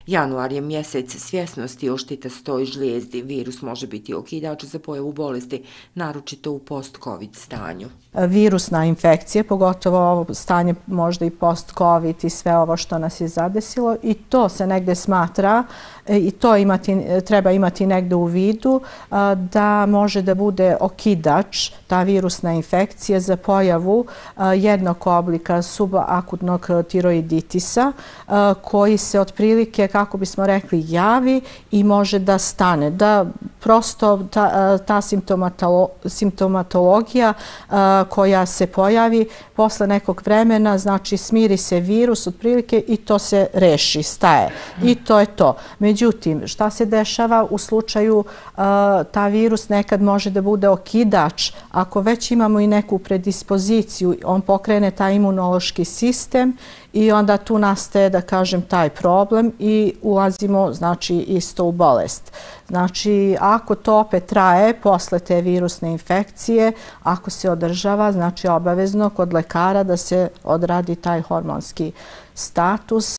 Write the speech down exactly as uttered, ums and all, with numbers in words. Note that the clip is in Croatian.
Januar je mjesec svjesnosti o štitastoj žlijezdi. Virus može biti okidač za pojavu bolesti, naročito u post-covid stanju. Virusna infekcija, pogotovo ovo stanje možda i post-covid i sve ovo što nas je zadesilo, i to se negde smatra i to imati, treba imati negde u vidu da može da bude okidač, ta virusna infekcija, za pojavu jednog oblika subakutnog tiroiditisa koji se otprilike, kako bismo rekli, javi i može da stane, da prosto ta, ta simptomatolo, simptomatologija koja se pojavi posle nekog vremena, znači smiri se virus otprilike i to se reši, staje. I to je to. Međutim, šta se dešava u slučaju uh, ta virus nekad može da bude okidač ako već imamo i neku predispoziciju, on pokrene taj imunološki sistem i onda tu nastaje, da kažem, taj problem i ulazimo, znači, isto u bolest. Znači, ako to opet traje posle te virusne infekcije, ako se održava, znači obavezno kod lekara da se odradi taj hormonski status.